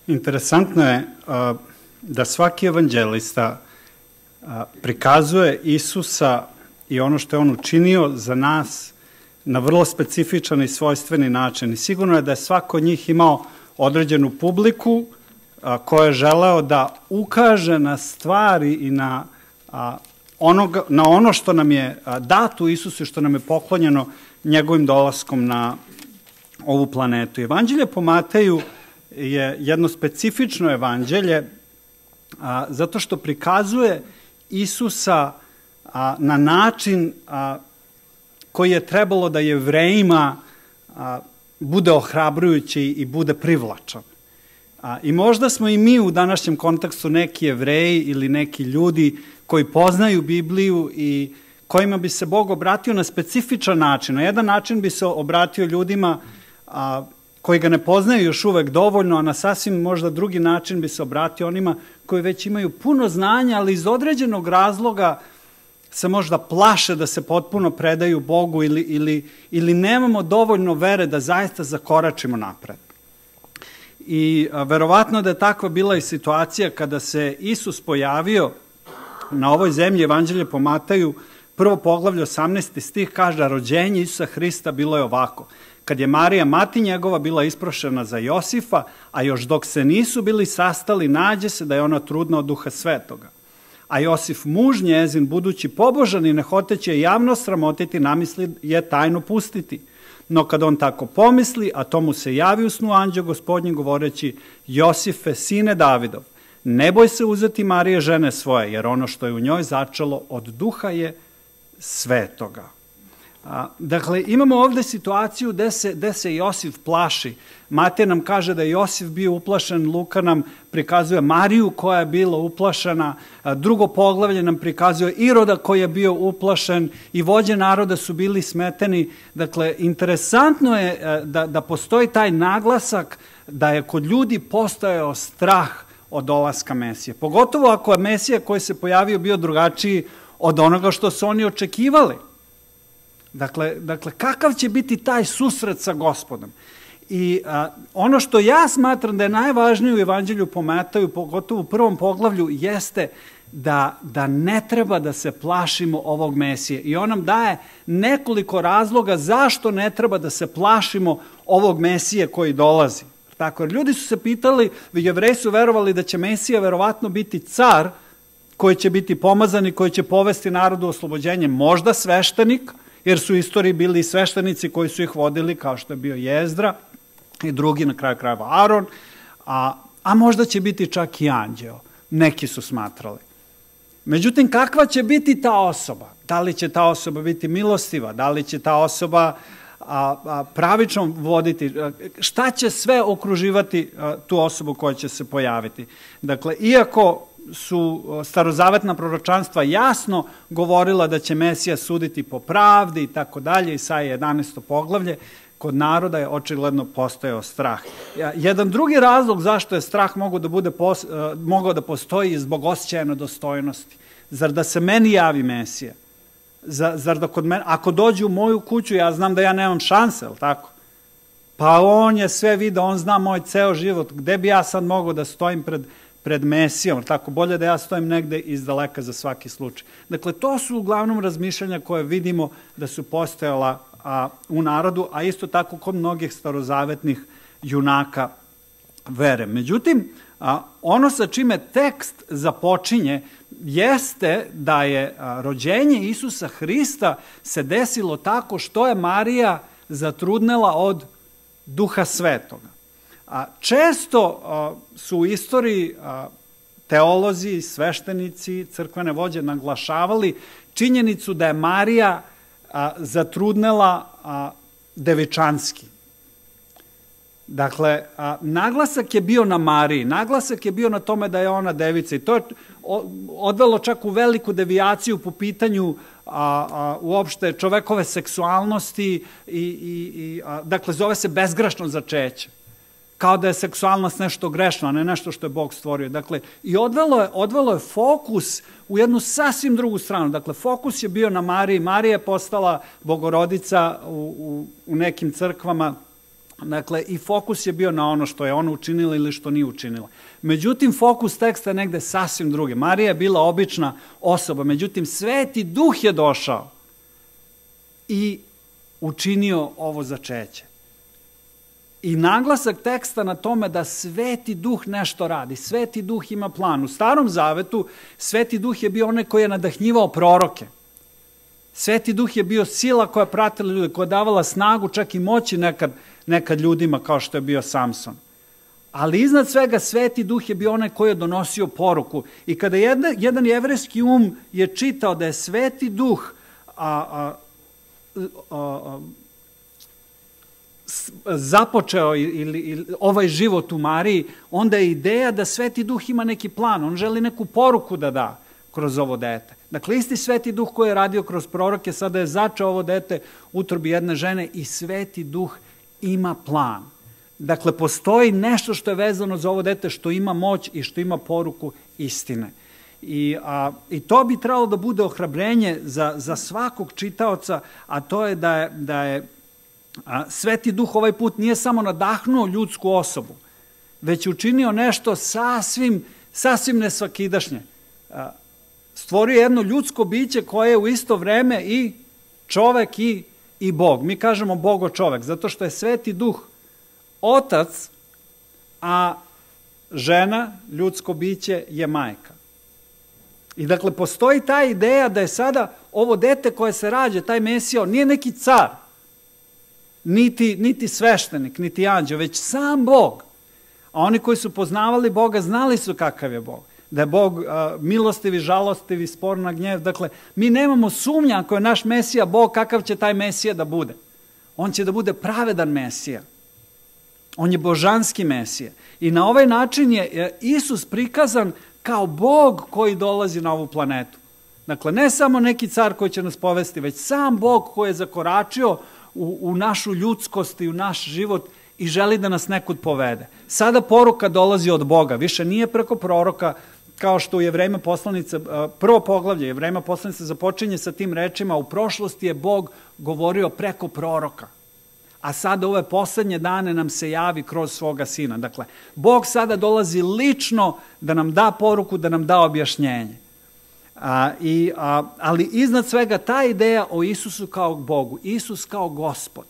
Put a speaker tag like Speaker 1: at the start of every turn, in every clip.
Speaker 1: Interesantno je da svaki evanđelista prikazuje Isusa i ono što je on učinio za nas na vrlo specifičan i svojstveni način. I sigurno je da je svako od njih imao određenu publiku koja je želeo da ukaže na stvari i na ono što nam je dato Isusu i što nam je poklonjeno njegovim dolaskom na ovu planetu. Evanđelje po Mateju je jedno specifično evanđelje zato što prikazuje Isusa na način koji je trebalo da Jevrejima bude ohrabrujući i bude privlačan. I možda smo i mi u današnjem kontekstu neki Jevreji ili neki ljudi koji poznaju Bibliju i kojima bi se Bog obratio na specifičan način. Na jedan način bi se obratio ljudima koji ga ne poznaju još uvek dovoljno, a na sasvim možda drugi način bi se obratio onima koji već imaju puno znanja, ali iz određenog razloga se možda plaše da se potpuno predaju Bogu ili nemamo dovoljno vere da zaista zakoračimo napred. I verovatno da je takva bila i situacija kada se Isus pojavio na ovoj zemlji. Evanđelje po Mateju, prvo poglavlje 18. stih kaže, a rođenje Isusa Hrista bilo je ovako. Kad je Marija, mati njegova, bila isprošena za Josifa, a još dok se nisu bili sastali, nađe se da je ona trudna od Duha Svetoga. A Josif, muž njezin, budući pobožan i ne hoteći je javno sramotiti, namisli je tajno pustiti. No kad on tako pomisli, a to mu se javi u snu anđeo Gospodnji govoreći, Josife, sine Davidov, ne boj se uzeti Marije žene svoje, jer ono što je u njoj začelo od Duha je Svetoga. Dakle, imamo ovde situaciju gde se Josif plaši. Matej nam kaže da je Josif bio uplašen, Luka nam prikazuje Mariju koja je bila uplašena, drugo poglavlje nam prikazuje Iroda koji je bio uplašen i vođe naroda su bili smeteni. Dakle, interesantno je da postoji taj naglasak da je kod ljudi postojao strah od dolaska Mesije. Pogotovo ako je Mesija koji se pojavio bio drugačiji od onoga što su oni očekivali. Dakle, kakav će biti taj susret sa Gospodom? I ono što ja smatram da je najvažnije u Evanđelju po Mateju, pogotovo u prvom poglavlju, jeste da ne treba da se plašimo ovog Mesije. I on nam daje nekoliko razloga zašto ne treba da se plašimo ovog Mesije koji dolazi. Tako, jer ljudi su se pitali, Jevreji su verovali da će Mesija verovatno biti car koji će biti pomazan i koji će povesti narodu oslobođenje, možda sveštenik, jer su u istoriji bili sveštenici koji su ih vodili, kao što je bio Jezdra i drugi, na kraju krajeva Aron, a možda će biti čak i anđeo. Neki su smatrali. Međutim, kakva će biti ta osoba? Da li će ta osoba biti milostiva? Da li će ta osoba pravično voditi? Šta će sve okruživati tu osobu koja će se pojaviti? Dakle, iako su starozavetna proročanstva jasno govorila da će Mesija suditi po pravdi i tako dalje, Isaija 11. poglavlje, kod naroda je očigledno postojao strah. Jedan drugi razlog zašto je strah mogao da postoji je zbog osjećaja nedostojnosti. Zar da se meni javi Mesija? Zar da kod mene, ako dođe u moju kuću, ja znam da ja nemam šanse, ali tako? Pa on je sve video, on zna moj ceo život, gde bi ja sad mogao da stojim pred Mesijom, tako bolje da ja stojim negde izdaleka za svaki slučaj. Dakle, to su uglavnom razmišljanja koje vidimo da su postojala u narodu, a isto tako kod mnogih starozavetnih junaka vere. Međutim, ono sa čime tekst započinje jeste da je rođenje Isusa Hrista se desilo tako što je Marija zatrudnela od Duha Svetoga. Često su u istoriji teolozi, sveštenici, crkvene vođe naglašavali činjenicu da je Marija zatrudnela devičanski. Dakle, naglasak je bio na Mariji, naglasak je bio na tome da je ona devica i to je odvelo čak u veliku devijaciju po pitanju uopšte čovekove seksualnosti dakle, zove se bezgrešno začeće. Kao da je seksualnost nešto grešno, a ne nešto što je Bog stvorio. Dakle, i odvelo je fokus u jednu sasvim drugu stranu. Dakle, fokus je bio na Mariji. Marija je postala bogorodica u nekim crkvama Dakle, i fokus je bio na ono što je ona učinila ili što nije učinila. Međutim, fokus teksta je negde sasvim druge. Marija je bila obična osoba, međutim, Sveti Duh je došao i učinio ovo začeće. I naglasak teksta na tome da Sveti Duh nešto radi. Sveti Duh ima plan. U Starom Zavetu Sveti Duh je bio onaj koji je nadahnjivao proroke. Sveti Duh je bio sila koja pratila ljude, koja davala snagu, čak i moći nekad ljudima kao što je bio Samson. Ali iznad svega Sveti Duh je bio onaj koji je donosio poruku. I kada jedan jevrejski je čitao da je Sveti Duh započeo ili ovaj život u Mariji, onda je ideja da Sveti Duh ima neki plan, on želi neku poruku da da kroz ovo dete. Dakle, isti Sveti Duh koji je radio kroz proroke, sada je začeo ovo dete u utrobi jedne žene i Sveti Duh ima plan. Dakle, postoji nešto što je vezano za ovo dete, što ima moć i što ima poruku istine. I to bi trebalo da bude ohrabrenje za svakog čitaoca, a to je da je Sveti Duh ovaj put nije samo nadahnuo ljudsku osobu, već učinio nešto sasvim nesvakidašnje. Stvorio jedno ljudsko biće koje je u isto vreme i čovek i Bog. Mi kažemo Bogo čovek, zato što je Sveti Duh otac, a žena, ljudsko biće, je majka. I dakle, postoji ta ideja da je sada ovo dete koje se rađa, taj Mesija, nije neki car, niti sveštenik, niti anđeo, već sam Bog. A oni koji su poznavali Boga znali su kakav je Bog. Da je Bog milostivi, žalostivi, spor na gnjev. Dakle, mi nemamo sumnja ako je naš Mesija Bog, kakav će taj Mesija da bude. On će da bude pravedan Mesija. On je božanski Mesija. I na ovaj način je Isus prikazan kao Bog koji dolazi na ovu planetu. Dakle, ne samo neki car koji će nas povesti, već sam Bog koji je zakoračio u našu ljudskost i u naš život i želi da nas nekud povede. Sada poruka dolazi od Boga, više nije preko proroka, kao što u Jevrejima poslanica, prvo poglavlje Jevrejima poslanica započinje sa tim rečima, u prošlosti je Bog govorio preko proroka, a sada ove poslednje dane nam se javi kroz svoga Sina. Dakle, Bog sada dolazi lično da nam da poruku, da nam da objašnjenje. Ali iznad svega ta ideja o Isusu kao Bogu, Isus kao Gospod.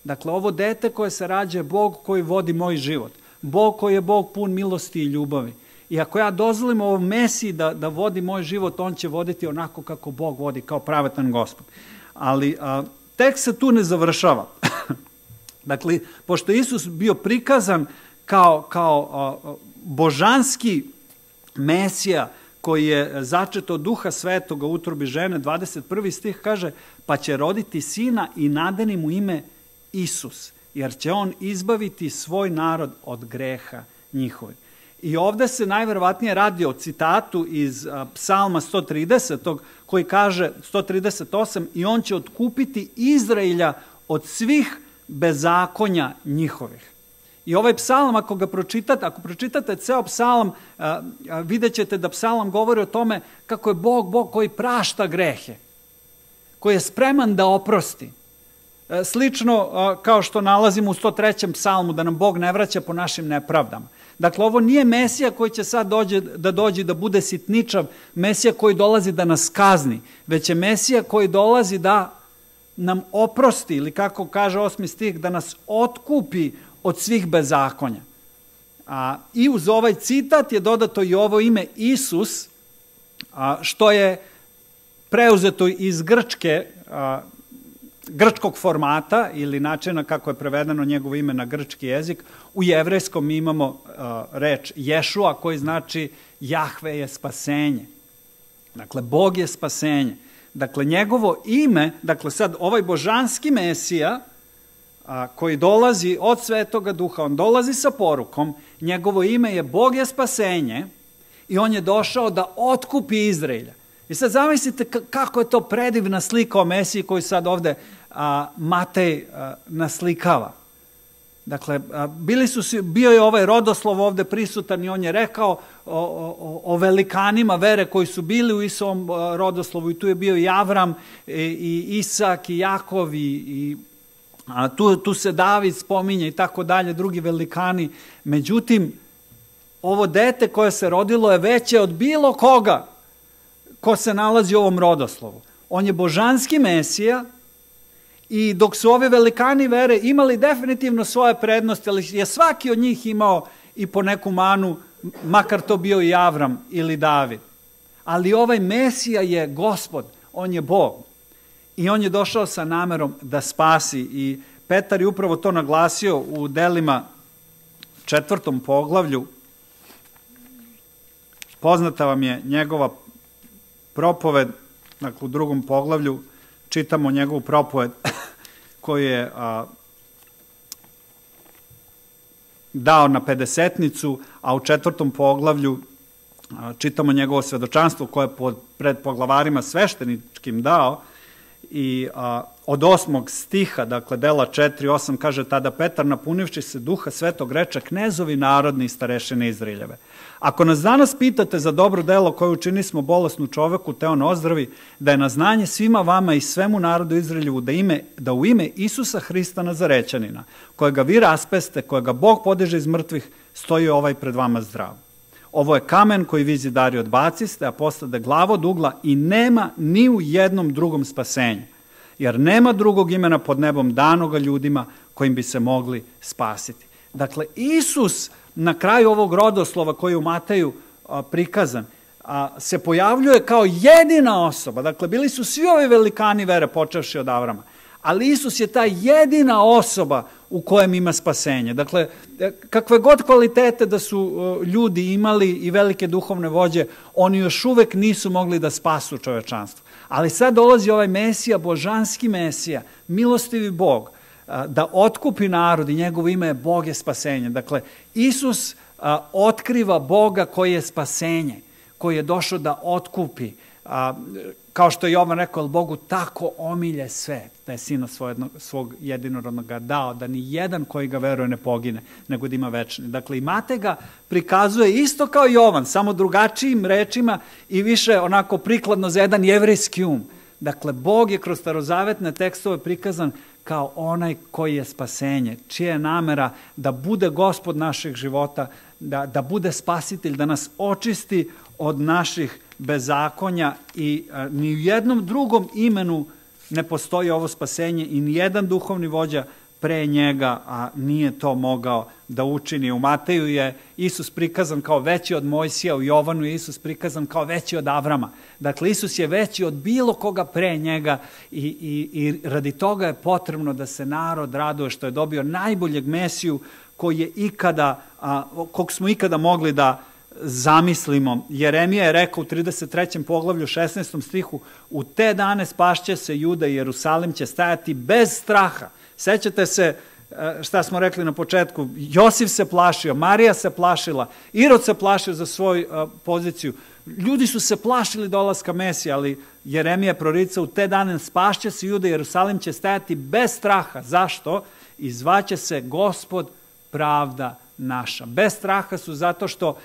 Speaker 1: Dakle, ovo dete koje se rađa je Bog koji vodi moj život. Bog koji je Bog pun milosti i ljubavi. I ako ja dozvolim ovom Mesiji da vodi moj život, on će voditi onako kako Bog vodi, kao pravetan Gospod. Ali tekst se tu ne završava. Dakle, pošto je Isus bio prikazan kao božanski Mesija koji je začet od Duha Svetoga u utrobi žene, 21. stih kaže, pa će roditi sina i nadeni mu ime Isus, jer će on izbaviti svoj narod od greha njihovih. I ovde se najverovatnije radi o citatu iz Psalma 130. koji kaže 138. i on će otkupiti Izraelja od svih bezakonja njihovih. I ovaj psalam, ako pročitate ceo psalam, vidjet ćete da psalam govori o tome kako je Bog koji prašta grehe, koji je spreman da oprosti. Slično kao što nalazimo u 103. psalmu, da nam Bog ne vraća po našim nepravdama. Dakle, ovo nije Mesija koji će sad dođe da bude sitničav, Mesija koji dolazi da nas kazni, već je Mesija koji dolazi da nam oprosti, ili kako kaže 8. stih, da nas otkupi od svih bezakonja. I uz ovaj citat je dodato i ovo ime Isus, što je preuzeto iz grčkog formata ili načina kako je prevedeno njegovo ime na grčki jezik. U jevrejskom mi imamo reč Ješua koji znači Jahve je spasenje. Dakle, Bog je spasenje. Dakle, njegovo ime, dakle sad ovaj božanski Mesija koji dolazi od Svetoga Duha, on dolazi sa porukom, njegovo ime je Bog je spasenje i on je došao da otkupi Izraelja. I sad zamislite kako je to predivna slika o Mesiji koju sad ovde Matej naslikava. Dakle, bio je ovaj rodoslov ovde prisutan i on je rekao o velikanima vere koji su bili u Isovom rodoslovu i tu je bio i Avram, i Isak, i Jakov, i tu se David spominje i tako dalje, drugi velikani. Međutim, ovo dete koje se rodilo je veće od bilo koga ko se nalazi u ovom rodoslovu. On je božanski Mesija i dok su ovi velikani vere imali definitivno svoje prednosti, ali je svaki od njih imao i po neku manu, makar to bio i Avram ili David. Ali ovaj Mesija je Gospod, on je Bog. I on je došao sa namerom da spasi. I Petar je upravo to naglasio u Delima 4. poglavlju. Poznata vam je njegova propoved, dakle u 2. poglavlju čitamo njegovu propoved koju je dao na Pedesetnicu, a u 4. poglavlju čitamo njegovo svedočanstvo koje je pred poglavarima svešteničkim dao. I od 8. stiha, dakle Dela 4:8 kaže: tada Petar, napunivši se Duha Svetog, reče: knezovi narodni i starešine Izraeljeve, ako nas danas pitate za dobro delo koje učinismo bolesnu čoveku, te on ozdravi, da je na znanje svima vama i svemu narodu Izraeljevu da u ime Isusa Hrista Nazarećanina, kojega vi raspeste, kojega Bog podiže iz mrtvih, stoji ovaj pred vama zdrav. Ovo je kamen koji vi zidari odbaciste, a postade glava od ugla i nema ni u jednom drugom spasenju, jer nema drugog imena pod nebom danoga ljudima kojim bi se mogli spasiti. Dakle, Isus na kraju ovog rodoslova koji je u Mateju prikazan, se pojavljuje kao jedina osoba. Dakle, bili su svi ovi velikani vere počevši od Avrama, ali Isus je ta jedina osoba u kojem ima spasenje. Dakle, kakve god kvalitete da su ljudi imali i velike duhovne vođe, oni još uvek nisu mogli da spasu čovečanstvo. Ali sad dolazi ovaj Mesija, božanski Mesija, milostivi Bog, da otkupi narod i njegovo ime je Bog je spasenje. Dakle, Isus otkriva Boga koji je spasenje, koji je došao da otkupi. Kao što je Jovan rekao, jer Bogu tako omilje svet, da je Sina svog jedinorodnoga dao, da ni jedan koji ga veruje ne pogine, nego da ima večni. Dakle, i Matej ga prikazuje isto kao Jovan, samo drugačijim rečima i više onako prikladno za jedan jevrejski um. Dakle, Bog je kroz starozavetne tekstove prikazan kao onaj koji je spasenje, čija je namera da bude Gospod naših života, da bude spasitelj, da nas očisti od naših bezakonja i ni u jednom drugom imenu ne postoji ovo spasenje i ni jedan duhovni vođa pre njega nije to mogao da učini. U Mateju je Isus prikazan kao veći od Mojsija, u Jovanu je Isus prikazan kao veći od Avrama. Dakle, Isus je veći od bilo koga pre njega i radi toga je potrebno da se narod raduje što je dobio najboljeg Mesiju kog smo ikada mogli da zamislimo. Jeremija je rekao u 33. poglavlju 16. stihu: u te dane spašće se Juda i Jerusalim će stajati bez straha. Sećate se šta smo rekli na početku? Josif se plašio, Marija se plašila, Irod se plašio za svoju poziciju. Ljudi su se plašili dolaska Mesija, ali Jeremija prorica: u te dane spašće se Juda i Jerusalim će stajati bez straha. Zašto? I zvaće se Gospod pravda naša. Bez straha su zato što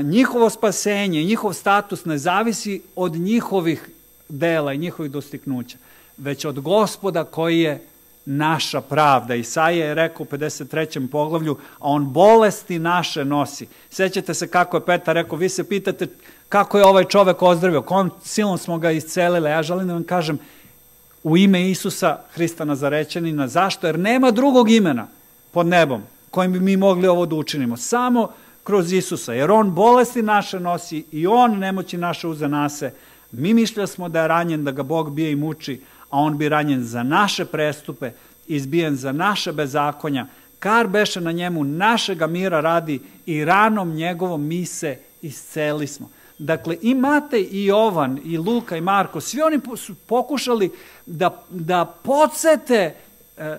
Speaker 1: njihovo spasenje, njihov status ne zavisi od njihovih dela i njihovih dostignuća, već od Gospoda koji je naša pravda. Isaija je rekao u 53. poglavlju: a on bolesti naše nosi. Sećate se kako je Petar rekao: vi se pitate kako je ovaj čovek ozdravio, kom silom smo ga iscelili. Ja želim da vam kažem, u ime Isusa Hrista Nazarećanina. Zašto? Jer nema drugog imena pod nebom kojim bi mi mogli ovo da učinimo. Samo kroz Isusa, jer on bolesti naše nosi i on nemoći naše uze nase. Mi mišljali smo da je ranjen, da ga Bog bije i muči, a on bi ranjen za naše prestupe, izbijen za naše bezakonja. Kar beše na njemu našega mira radi i ranom njegovom mi se isceli smo. Dakle, i Matej, i Jovan, i Luka, i Marko, svi oni su pokušali da podsete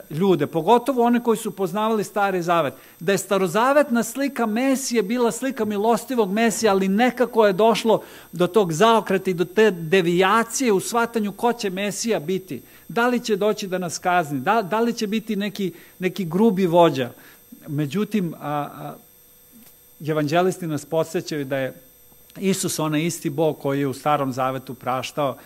Speaker 1: ljude, pogotovo one koji su poznavali Stari Zavet, da je starozavetna slika Mesije bila slika milostivog Mesija, ali nekako je došlo do tog zaokreta i do te devijacije u shvatanju ko će Mesija biti. Da li će doći da nas kazni, da li će biti neki grubi vođa. Međutim, evanđelisti nas podsjećaju da je Isus onaj isti Bog koji je u Starom Zavetu praštao,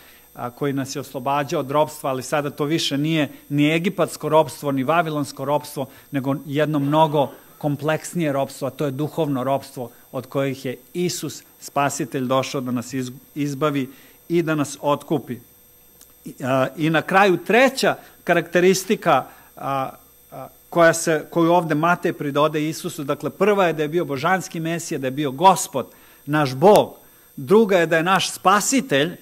Speaker 2: koji nas je oslobađao od ropstva, ali sada to više nije ni egipatsko ropstvo, ni vavilonsko ropstvo, nego jedno mnogo kompleksnije ropstvo, a to je duhovno ropstvo od kojih je Isus, Spasitelj, došao da nas izbavi i da nas otkupi. I na kraju treća karakteristika koju ovde Matej pridode Isusu, dakle prva je da je bio božanski Mesija, da je bio Gospod, naš Bog, druga je da je naš Spasitelj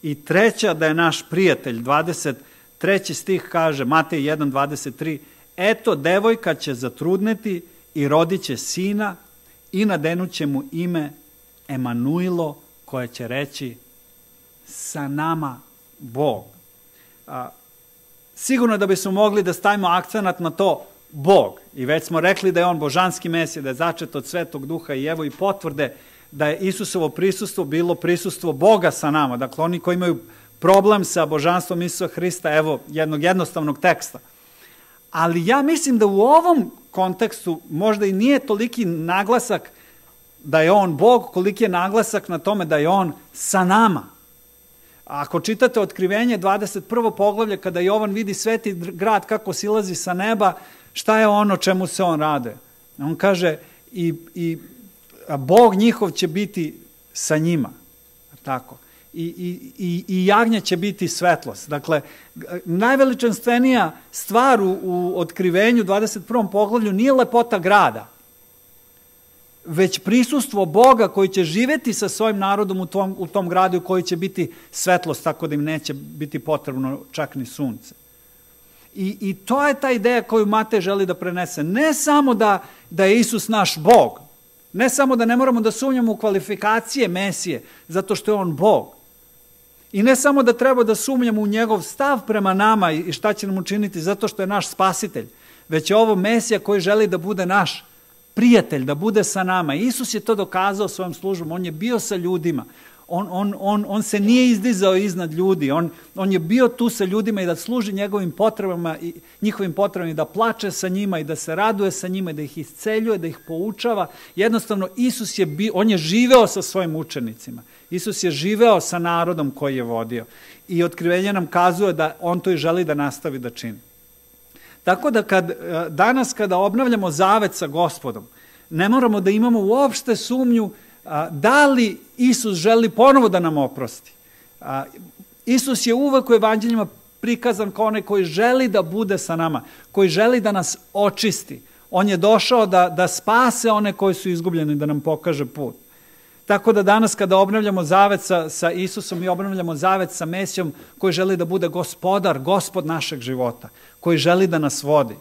Speaker 2: i treća da je naš prijatelj. 23. stih kaže, Matej 1:23, eto, devojka će zatrudneti i rodit će sina i nadenuće mu ime Emanuilo, koje će reći sa nama Bog. Sigurno da bismo mogli da stavimo akcenat na to Bog. I već smo rekli da je on božanski Mesija, da je začet od Svetog Duha i evo i potvrde da je Isusovo prisustvo bilo prisustvo Boga sa nama. Dakle, oni koji imaju problem sa božanstvom Isusa Hrista, evo jednog jednostavnog teksta. Ali ja mislim da u ovom kontekstu možda i nije toliki naglasak da je on Bog, koliki je naglasak na tome da je on sa nama. Ako čitate Otkrivenje 21. poglavlje, kada Jovan vidi sveti grad kako silazi sa neba, šta je ono čemu se on rade? On kaže i Bog njihov će biti sa njima. Tako. I jagnje će biti svetlost. Dakle, najveličanstvenija stvar u Otkrivenju 21. poglavlju nije lepota grada, već prisustvo Boga koji će živeti sa svojim narodom u tom gradu, koji će biti svetlost, tako da im neće biti potrebno čak ni sunce. I to je ta ideja koju Matej želi da prenese. Ne samo da je Isus naš Bog, ne samo da ne moramo da sumnjamo u kvalifikacije Mesije, zato što je on Bog. I ne samo da treba da sumnjamo u njegov stav prema nama i šta će nam učiniti, zato što je naš Spasitelj, već je ovo Mesija koji želi da bude naš prijatelj, da bude sa nama. Isus je to dokazao svojom službom, on je bio sa ljudima, on se nije izdizao iznad ljudi, on je bio tu sa ljudima i da služi njegovim potrebama i njihovim potrebama i da plače sa njima i da se raduje sa njima i da ih isceljuje, da ih poučava. Jednostavno, on je živeo sa svojim učenicima. Isus je živeo sa narodom koji je vodio i Otkrivenje nam kazuje da on to i želi da nastavi da čini. Tako da danas kada obnavljamo zavet sa Gospodom, ne moramo da imamo uopšte sumnju da li Isus želi ponovo da nam oprosti. Isus je uvek u evanđeljima prikazan kao onaj koji želi da bude sa nama, koji želi da nas očisti. On je došao da spase one koji su izgubljeni, da nam pokaže put. Tako da danas kada obnavljamo zavet sa Isusom i obnavljamo zavet sa Mesijom koji želi da bude Gospod našeg života, koji želi da nas vodi.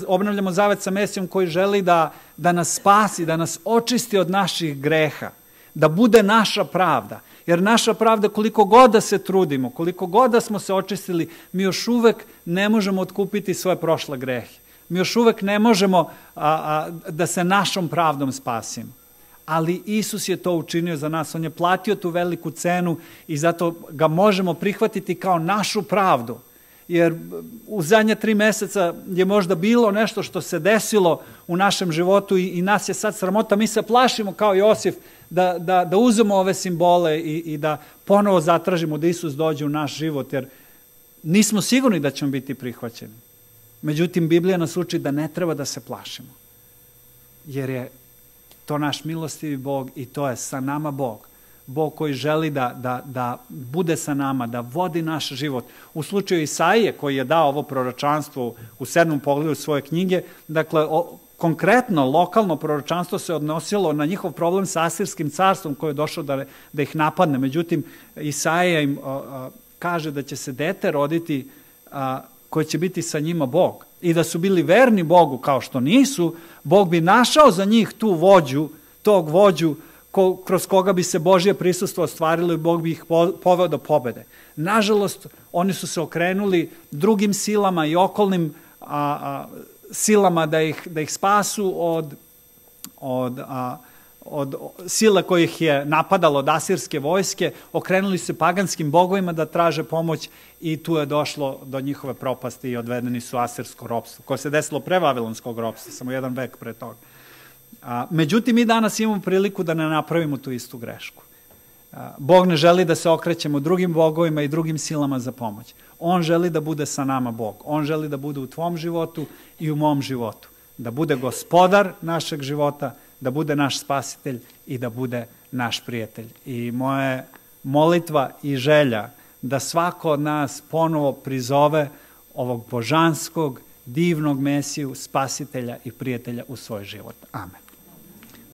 Speaker 2: Obnavljamo zavet sa Mesijom koji želi da nas spasi, da nas očisti od naših greha, da bude naša pravda. Jer naša pravda, koliko god da se trudimo, koliko god da smo se očistili, mi još uvek ne možemo otkupiti svoje prošle grehe. Mi još uvek ne možemo da se našom pravdom spasimo. Ali Isus je to učinio za nas, on je platio tu veliku cenu i zato ga možemo prihvatiti kao našu pravdu. Jer u zadnje 3 meseca je možda bilo nešto što se desilo u našem životu i nas je sad sramota. Mi se plašimo kao Josif da uzmemo ove simbole i da ponovo zatražimo da Isus dođe u naš život, jer nismo sigurni da ćemo biti prihvaćeni. Međutim, Biblija nas uči da ne treba da se plašimo, jer je to naš milostivi Bog i to je sa nama Bog. Bog koji želi da bude sa nama, da vodi naš život. U slučaju Isaije koji je dao ovo proročanstvo u 7. poglavlju svoje knjige, dakle, konkretno, lokalno proročanstvo se odnosilo na njihov problem sa Asirskim carstvom koji je došao da ih napadne. Međutim, Isaija im kaže da će se dete roditi koje će biti sa njima Bog. I da su bili verni Bogu kao što nisu, Bog bi našao za njih tog vođu kroz koga bi se Božje prisustvo ostvarilo i Bog bi ih poveo do pobede. Nažalost, oni su se okrenuli drugim silama i okolnim silama da ih spasu od sila kojih je napadalo od asirske vojske, okrenuli se paganskim bogovima da traže pomoć i tu je došlo do njihove propasti i odvedeni su u asirsko ropstvo, koje se desilo pre vavilonskog ropstva, samo 1 vek pre toga. Međutim, mi danas imamo priliku da ne napravimo tu istu grešku. Bog ne želi da se okrećemo drugim bogovima i drugim silama za pomoć. On želi da bude sa nama Bog. On želi da bude u tvom životu i u mom životu. Da bude gospodar našeg života, da bude naš spasitelj i da bude naš prijatelj. I moja molitva i želja da svako od nas ponovo prizove ovog božanskog, divnog Mesiju, spasitelja i prijatelja u svoj život. Amen.